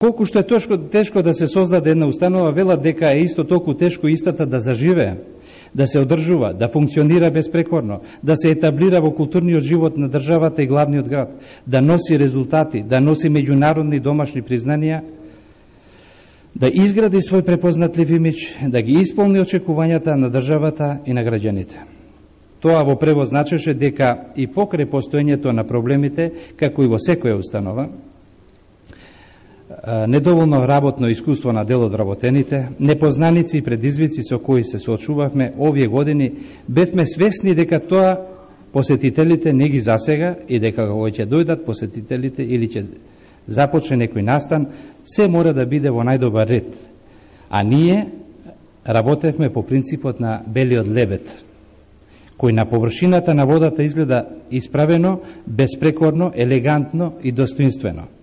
Колку што е тешко да се создаде една установа, велат дека е исто толку тешко истата да заживее, да се одржува, да функционира безпрекорно, да се етаблира во културниот живот на државата и главниот град, да носи резултати, да носи меѓународни домашни признанија, да изгради свој препознатлив имидж, да ги исполни очекувањата на државата и на граѓаните. Тоа во превод значеше дека и покрај постоењето на проблемите, како и во секоја установа, недоволно работно искуство на дел од работените, непознаници и предизвици со кои се соочувавме овие години, бевме свесни дека тоа посетителите не ги засега и дека кога ќе дојдат посетителите или ќе започне некој настан, се мора да биде во најдобар ред. А ние работевме по принципот на белиот лебед, кој на површината на водата изгледа исправено, безпрекорно, елегантно и достоинствено.